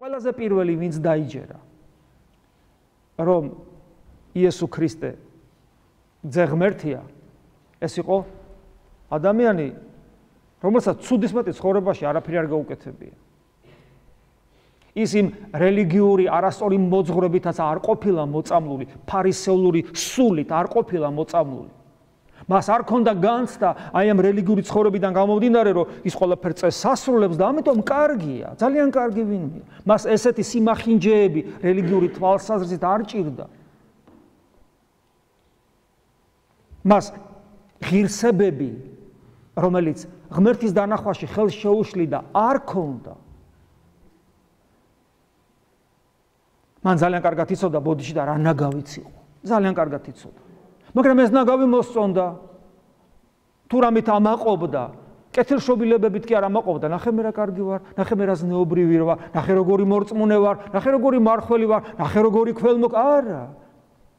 ყველაზე პირველი ვინც დაიჯერა რომ იესო ქრისტე ძე ღმერთია, ეს იყო ადამიანი, რომელსაც ცუდისმეტი ცხოვრებაში არაფერი არ გაუკეთებია. ის იმ რელიგიური არასწორი მოძღვრებითაც არ ყოფილა მოწამლული, ფარისეულური სულით არ ყოფილა მოწამლული. მას არ ქონდა განცდა აი ამ რელიგიური ცხოვრებიდან გამომდინარე, რომ ის ყველაფერს წესასრულებს და ამიტომ კარგია, ძალიან კარგი ვინმე. მას ესეთი სიმახინჯეები რელიგიური თვალსაზრისით არ ჭირდა. მას ღირსებები, რომელიც ღმერთის დანახვაში ხელს შეუშლიდა, არ ქონდა. მან ძალიან კარგად იცოდა ბოდიში და რა ნაგავიც იყო. ძალიან კარგად იცოდა. მაგრამ ეს ნაგავი მოსწონდა. თუ რამით ამაყობდა, კეთილშობილებებით კი არ ამაყობდა, ნახე მე რა კარგი ვარ, ნახე მე რა ზნეობრივი ვარ, ნახე როგორი მორწმუნე ვარ, ნახე როგორი მარხველი ვარ, ნახე როგორი არა.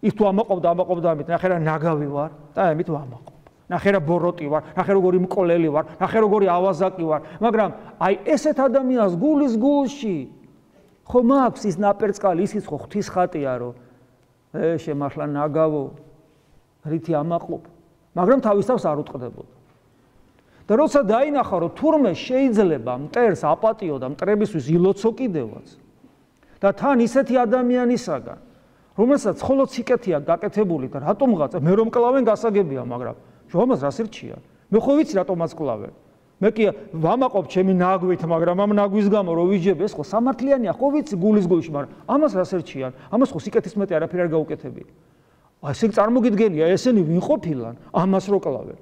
ის თუ ამაყობდა ამით, ნახე რა ნაგავი ვარ და ამით ვამაყობ. ნახე რა ბოროტი ვარ, ნახე როგორი მკოლელი ვარ, ნახე როგორი ავაზაკი ვარ, მაგრამ აი ესეთ ადამიანს გულის გულში ხო მაქვს ის ნაპერწკალი, ისიც ხო ღვთის ხატია, რომ შემახლა ნაგავო, რითი ამაყობ, მაგრამ თავის თავს არ უტყდებოდა. და როცა დაინახა, რომ თურმე შეიძლება მტერს აპატიო და მტრებისთვის ილოცო კიდევაც. და თან ისეთი ადამიანისაგან, რომელსაც მხოლოდ სიკეთეა გაკეთებული და რატომღაც მე რომ კლავენ გასაგებია, მაგრამ შუამას რას ირჩიან? მე ხო ვიცი რატომაც კლავენ. მე კი ვამაყობ ჩემი ნაგვით, მაგრამ ამ ნაგვის გამო რო ვიჯებ, ეს ხო სამართლიანია, ხო ვიცი გულის გულში, მაგრამ ამას რას ერჩიან? ამას ხო სიკეთის მეტი არაფერი არ გაუკეთებია. ესე წარმოგიდგენია, ესენი ვინ ყოფილან, ამას რო კლავენ.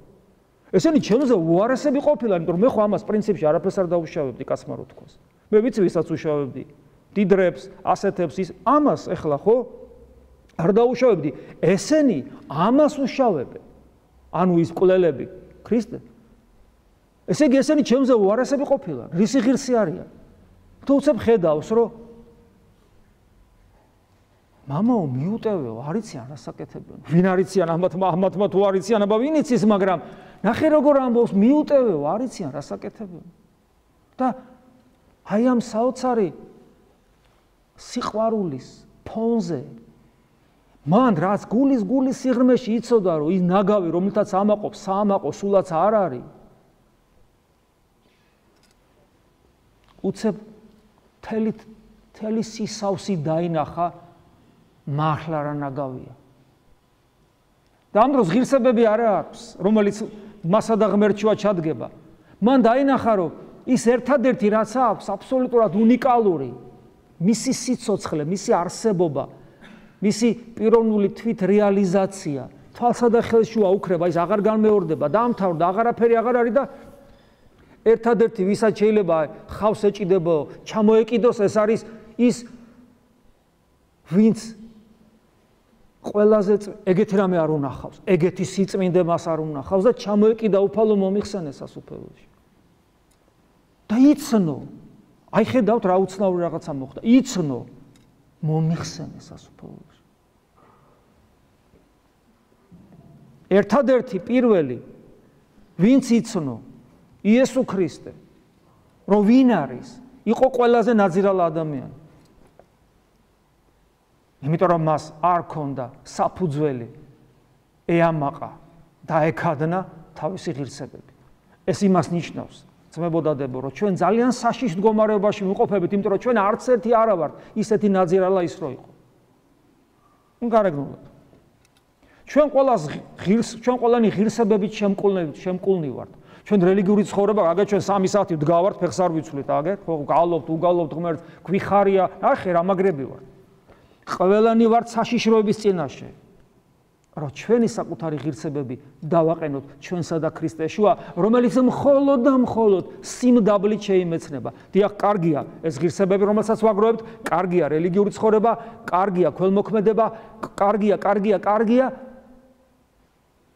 ესენი ჩემზე უარესები ყოფილან, იმიტომ რომ მე ხო ამას პრინციპში არაფერს არ დაუშავებდი, კაცმა რო თქვას. მე ვიცი ვისაც უშავებდი. დიდრებს, ასეთებს ის ამას ეხლა ხო არ დაუშავებდი. ესენი ამას უშავებენ. ანუ ის მკვლელები, ქრისტე. ესე იგი ესენი ჩემზე უარესები ყოფილან, რისი ღირსი არიან. თუ უცებ ხედავს, რომ მამაო მიუტევეო, არ იციან რა საკეთებენ. ვინ არ იციან ამათმა თუ არ იციან, აბა ვინ იცის, მაგრამ ნახე როგორ ამბობს, მიუტევეო, არ იციან რა საკეთებენ. და აი ამ საოცარი სიყვარულის ფონზე მან რაც გულის სიღრმეში იცოდა, რომ ის ნაგავი, რომელთაც ამაყობს, საამაყო სულაც არ არის. უცებ თელი სისავსი დაინახა, მართლა რა ნაგავია. და ამ დროს ღირსებები არ აქვს, რომელიც მასა და ღმერთშუა ჩადგება. მან დაინახა, რომ ის ერთადერთი რაც აქვს, აბსოლუტურად უნიკალური, მისი სიცოცხლე, მისი არსებობა, მისი პიროვნული თვით რეალიზაცია, თვალსა და ხელშუა უქრება, ის აღარ განმეორდება, დაამთავრდა, აღარაფერი აღარ არის და ერთადერთი ვისაც შეიძლება ხავს ეჭიდებო, ჩამოეკიდოს, ეს არის ის ვინც ყველაზე ეგეთი რამე არ უნახავს, ეგეთი სიწმინდე მას არ უნახავს და ჩამოეკიდა უფალო მომიხსენეს სასუფეველში. და იცნო, აი ხედავთ რა უცნაური რაღაცა მოხდა, იცნო, მომიხსენეს სასუფეველში. ერთადერთი პირველი ვინც იცნო იესო ქრისტე, რომ ვინ არის, იყო ყველაზე ნაძირალა ადამიანი. იმიტომ რომ მას არ ქონდა საფუძველი ეამაყა და ეკადნა თავისი ღირსებები. ეს იმას ნიშნავს, ძმებოდადებო, რომ ჩვენ ძალიან საშიშ მდგომარეობაში ვიმყოფებით, იმიტომ რომ ჩვენ არც ერთი არა ვართ ისეთი ნაძირალა ის რო იყო. გარეგნულად. ჩვენ ყველანი ღირსებებით შემკულნი ვართ. ჩვენ რელიგიური ცხოვრება, აგერ ჩვენ 3 საათი ვდგავართ, ფეხს არ ვიცვლით, აგერ ხო გავლობთ, უგავლობთ ღმერთს, გვიხარია, ნახე რა მაგრები ვართ. ყველანი ვართ საშიშროების წინაშე. რომ ჩვენი საკუთარი ღირსებები დავაყენოთ ჩვენსა და ქრისტეშუა, რომელიც მხოლოდ და მხოლოდ სიმდაბლით შეიმეცნება. დიახ, კარგია ეს ღირსებები, რომელსაც ვაგროვებთ, კარგია რელიგიური ცხოვრება, კარგია ქველმოქმედება, კარგია.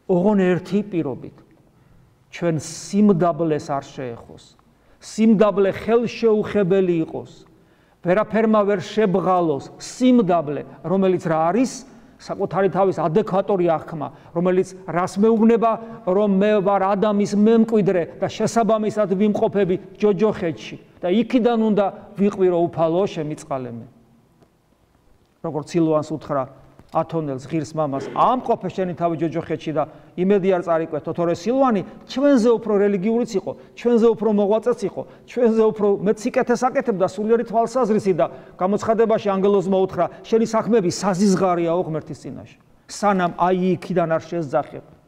ოღონ ერთი პირობით. ჩვენ სიმდაბლეს არ შეეხოს. სიმდაბლე ხელშეუხებელი იყოს. ვერაფერმა ვერ შებღალოს სიმდაბლე, რომელიც რა არის? საკუთარი თავის ადეკვატორი აღქმა, რომელიც რას მეუბნება, რომ მე ვარ ადამის მემკვიდრე და შესაბამისად ვიმყოფები ჯოჯოხეთში. და იქიდან უნდა ვიყვირო უფალო შემიწყალე მე. როგორც სილვანს უთხრა ათონელს ღირს მამას, ამყოფე შენი თავი ჯოჯოხეთში და იმედი არ წარიკვეთო, თორე სილვანი ჩვენზე უფრო რელიგიურიც იყო, ჩვენზე უფრო მოღვაწეც იყო, ჩვენზე უფრო მეც სიკეთეს აკეთებდა სულიერი თვალსაზრისით და გამოცხადებაში ანგელოზმა უთხრა, შენი საქმეები საზიზღარიაო ღმერთის წინაშე. სანამ აი იქიდან არ შესძახებ.